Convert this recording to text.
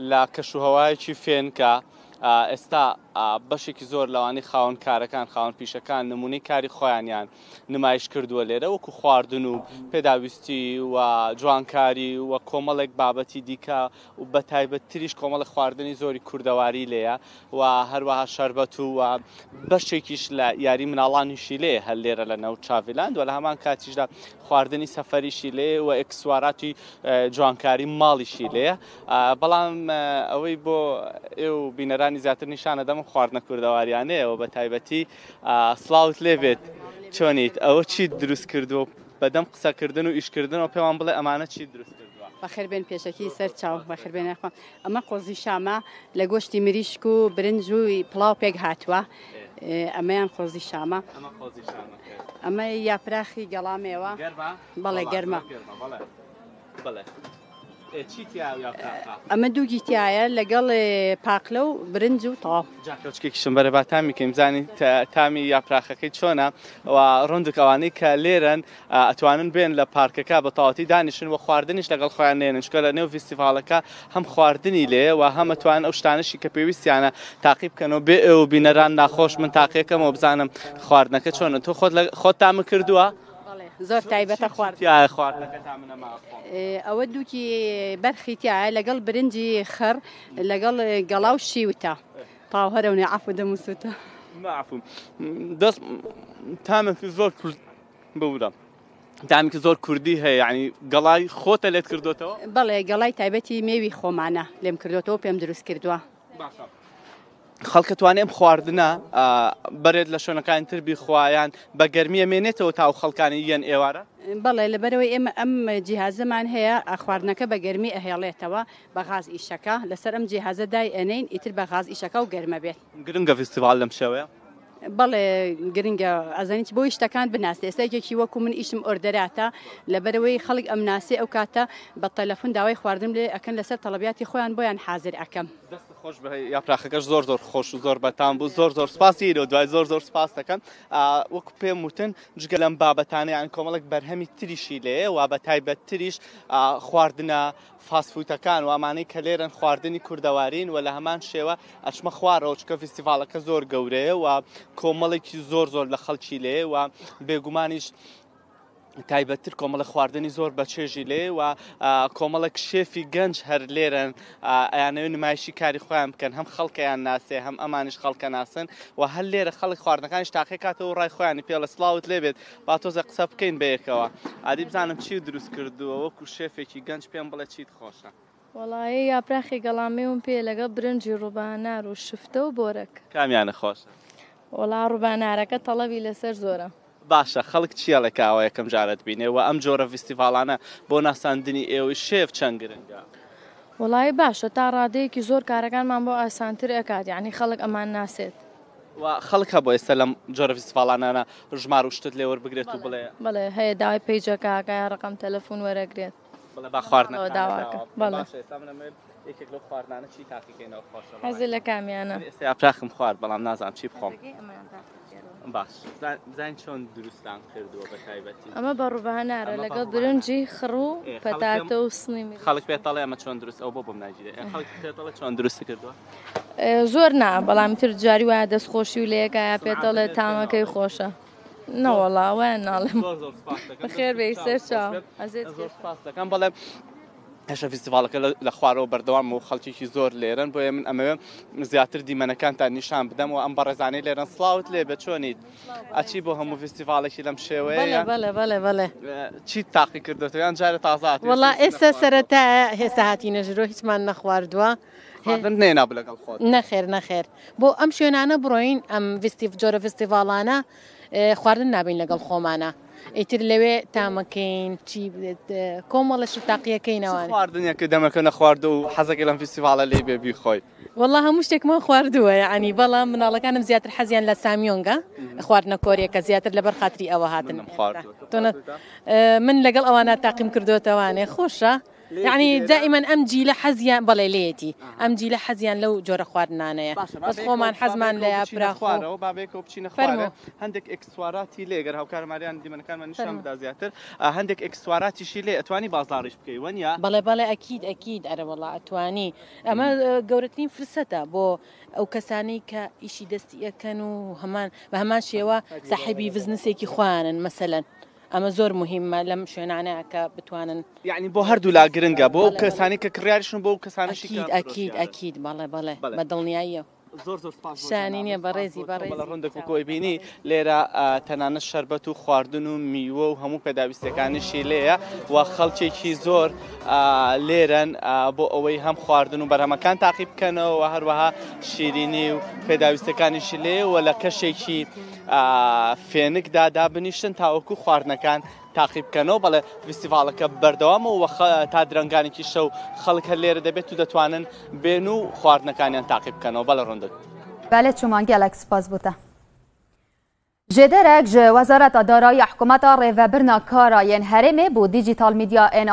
لە کەشوهەوایەکی فێنکە ئێستا بەشێکی زۆر لەوانەی خاوەن کارەکان خاوەن پیشەکان نمونەی کاری خۆیانیان نمایش کردووە لێرە وەکو خواردن و پێداویستی و جوانکاری و کۆمەڵێک بابەتی دیکە و بە تایبەتتریش کۆمەڵێک خواردنی زۆری کوردەواری لێیە و هەروەها شەربەت و بەشێکیش لە یاری مناڵانیشی لێ هەر لێرە لە ناو چاڤیلاند و لە هەمان کاتیشدا خواردنی سەفەریشی لێ و ئێکسواراتی جوانکاری ماڵیشی لێیە بەڵام ئەوەی بۆ ئێو بینەرانی زیاتر نیشانە دەم خواردنە کوردەواریانەیەوە بە تایبەتی سڵاوت لێبێت چۆنیت ئەوە چیت دروست کردووە بەدەم قسەکردن و ئیشکردنەوە پێمان بڵێ ئەمانە چیت دروست کردووە؟ بەخێر بێن پێشەکی سەر چاو بەخێر بێن یاخوا ئەمە قۆزی شامە لە گۆشتی مریشک و برنج و پڵاو پێک هاتووە ئەمەیان قۆزی شامە ئەمە قۆزی شامەکە ئەمە یاپراخی گەڵامێوە گەرمە بەڵێ گەرمە بەڵێ بەڵێ چی تیا یاپراخە؟ ئەمە دووگی تایە لەگەڵ پاقلە و برنج و تەواو. جا کەوچکێکیشم بەرە با تامی کەین بزانین تامی یاپراخەکەی چۆنە و ڕوندک ئەوانەی کە لێرەن ئەتوانن بێن لە پارکەکە بە تەواوەتی دانیشن و خواردنیش لەگەڵ خۆیان نێنن چونکە لە نێو ڤیستیڤاڵەکە هەم خواردنی لێ و هەم ئەتوانن ئەو شتانەشی کە پێویستیانە تاقی بکەنەوە بێ ئێوە بینەران ناخۆش من تاقیەکەمەوە بزانم خواردنەکە چۆنە تۆ خۆت خۆت تامە کردووە؟ زۆر تایبەتە خوارد تایە خواردنەکە تا منە ماخۆم ئەوە دووکی بەرخی تایە لەگەڵ برنجی خڕ لەگەڵ گەڵا و شیوتە تاو هەرەونێ عەفو دەم و سوتە عەفو دەست تامێکی زۆر کورد ببورە تامێکی زۆر کوردی هەیە یعنی گەڵای خۆتە لێت کردوتەوە بەڵێ گەڵای تایبەتی مێوی خۆمانە لێم کردوتەوە پێم دروست کردووە باشە خەڵکە توانێ ئەم خواردنە بەرێت لە شوێنەکانی تر بیخوایان بە گەرمیە مێنێتەوە تا و خەڵکانی یەن ئێوارە؟ بەڵێ لەبەرەوەی ئێمە ئەم جیهازەمان هەیە خواردنەکە بە گەرمی ئەهێڵێتەوە بە غاز ئیشەکە لەسەر ئەم جیهازە دای ئەنین ئیتر بە غاز ئیشەکە و گەرمە بێت. گرنگە ڤیستیڤاڵ لەم شێوەیە؟ بەڵێ گرنگە ئەزانی چ بۆی شتەکان بناسێ ئێستا یەکێکی وەکو من ئیشم ئۆردەراتە لەبەرەوەی خەڵک ئەمناسێ ئەو کاتە بە تەلەفون داوای خواردنم لێ ئەکەن لەسەر تەڵەبیاتی خۆیان بۆیان حازر ئەکەم. دەست خۆش بێ یاپراخەکەش زۆر زۆر خۆش و زۆر بەتام بوو زۆر زۆر سپاسی ئیرۆ دوای زۆر زۆر سپاس دەکەم وەکو پێم وتن جگە لەم بابەتانە یان کۆمەڵێک بەرهەمی تریشی لێیە و بە تایبەت تریش خواردنە فاست فوتەکان و ئەمانەی کە لێرەن خواردنی کوردەوارین و لە هەمان شێوە ئەچمە خوارەوە چکە فیستیڤاڵەکە زۆر گەورەیە و کۆمەڵێکی زۆر زۆر لە خەڵکی لێ و بێگومانیش تایبەتتر کۆمەڵە خواردنی زۆر بە چێژی لێ و کۆمەڵێک شێفی گەنج هەر لێرەن ئەیانەوێت نمایشی کاری خۆیان بکەن هەم خەڵکەیان ناسێ هەم ئەمانیش خەڵکە ناسن و هەر لێرە خەڵک خواردنەکانیش تاقیکاتەوە ڕای خۆیانی پێڵە سڵاوت لێبێت با تۆزە قسە بکەین بەیەکەوە ئادی بزانم چی دروست کردووە وەکو شێفێکی گەنج پێم بڵێ چیت خۆشە. وەڵایی یاپراخی گەڵامێوم پێیە لەگەڵ برنجی ڕوبانار و شفتە و بۆرەک. کامیانە خۆشە؟ وەڵا ڕوبانارەکە تەڵەبی لەسەر زۆرە. باشە خەڵک چی ئەڵێ کە ئاوا یەکەم جارت بینێ وە ئەم جۆرە ڤیستیڤاڵانە بۆ ناساندنی ئێوەی شێف چەند گرنگە؟ وەڵایی باشە تا ڕادەیەکی زۆر کارەکانمان بۆ ئاسانتر ئەکات یانی خەڵک ئەمان ناسێت. و خەڵک هەبوو ئێستا لەم جۆرە فیستیڤاڵانانە ژمارە و شتت لێ وەربگرێت و بڵێ. بەڵێ هەیە داوای پەیجەکە ئەکا یا ڕەقەم تەلەفون وەرەگرێت. بڵێ با خواردنەکانت داواکە داوا بکەم. بەڵێ. باشە ئێستا من ئەمەوێت یەکێک لەو خواردنانە چی تاقیکەینەوە خۆشە بەڕای حەزت لە کامیانە؟ من ئێستا یاپراخم خوارد بەڵام نازانم چی بخۆم. باش بزانین چۆن دروستان کردووە بە تایبەتی. ئەمە بە ڕووبانارە ئەمە بە لەگەڵ ڕووبانار. برنجی خڕ و ئێ خەڵک پێم پەتاتە و سنی مریشک. خەڵک پێت ئەڵێ ئەمە چۆن دروست ئەو بۆ بۆم ناگیرێ خەڵک پێت ئەڵێ چۆن دروست کردووە؟ زۆر نا بەڵام تر جاری وایە دەست خۆشی و لەیەکایە پێتەڵێ تامەکەی خۆشە نەوەڵا وایان ناڵێم بەخێر بێی سەر چاو زۆر سپاس دەکەم بەڵێ هێشتا فیستیڤاڵەکە لە خوارەوە بەردەوام و خەڵکێکی زۆر لێرەن بۆیە من ئەمەوێ زیاتر دیمەنەکانتان نیشان بدەم و ئەم بەڕێزانەی لێرەن سڵاوت لێ بێ چۆنیت ئەچی بۆ هەموو فیستیڤاڵێکی لەم شێوەیە بەڵێ بەڵێ بەڵێ چیت تاقی کردوێتەوە یان جارێ تازە هاتووی؟ وەڵا ئێستا سەرەتایە هێستا هاتینە ژورۆ هیچمان نەخواردووە خواردنت نەهێنابوو لەگەڵ خۆت؟ نەخێر نەخێر بۆ ئەم شوێنانە بڕۆین ئەم ڤیستیڤ جۆرە ڤیستیڤاڵانە خواردن نابین لەگەڵ خۆمانە ئیتر لەوێ تامەکەین چی کۆمەڵە شت تاقیەکەینەوە خواردنێکە دەمەکە نەخواردو و حەزەکەی لەم فیستیڤاڵە لێی بێ بیخۆی؟ وەڵا هەموو شتێکمان خواردووە یەعنی بەڵام مناڵەکانم زیاتر حەزیان لە سامیۆنگە خواردنە کۆریەکە زیاتر لەبەر خاتری ئەوە هاتن منم خواردووە من لەگەڵ ئەوانە تاقیم کردوێتەوانێ خۆشە. یەعنی دائیمەن ئەم جیلە حەزیان بەڵێ لێیەتی ئەم جیلە حەزیان لەو جۆرە خواردنانەیە بەس خۆمان حەزمان لە یاپراخ خوارەوە با بەیەکەوە بچینە خوارە هەندێک ئێکسواراتی لێ گەر هاوکار ماریان دیمەنەکانمان نیشان بدا زیاتر هەندێک ئێکسواراتیشی لێ ئەتوانی بازاڕیش بکەی وەنیە؟ بەڵێ بەڵێ ئەکید ئەکید ئەرە وەڵا ئەتوانی ئەمە گەورەترین فرسەتە بۆ ئەو کەسانەی کە ئیشی دەستی ئەکەن و هەمان بە هەمان شێوە ساحێبی بزنسێکی خۆیانن مەسەلەن ئەمە زۆر موهیمە لەم شوێنانە کە بتوانن. یەعنی بۆ هەردوولا گرنگە بۆ ئەو کەسانەی کە کڕیاریشن بۆ ئەو کەسانەشی کە ئەکید ئەکید ئەکید بەڵێ بەڵێ بە دڵنیاییەوە. زۆر زۆر سپاس بۆ شانی نییە جەنابت، سپاس بەڕێزی بۆ تۆ. بەڕێزی بەڵێ ڕوندەک وەکو ئەیبینی لێرە تەنانەت شەربەت و خواردن و میوە و هەموو پێداویستیەکانیشی لێیە و خەڵکێکی زۆر لێرەن بۆ ئەوەی هەم خواردن و بەرهەمەکان تاقی بکەنەوە و هەروەها شیرینی و پێداویستەکانیشی لێ و لە کەشێکی فێنکدا دابنیشن تاوەکو خواردنەکان تاقی بکەنەوە. بەڵێ فیستیڤاڵەکە بەردەوامە و تا درەنگانێکی شەو خەڵک هەر لێرە دەبێت و دەتوانن بێن و خواردنەکانیان تاقی بکەنەوە. بەڵێ ڕوندک. بەلێ چومان گەلەک سپاس بۆ تە. Jêderek ji Wezareta Darayî ya Hikûmeta Rêvebirina Kara yên Herêmê bo Dîjîtal Mîdya ên.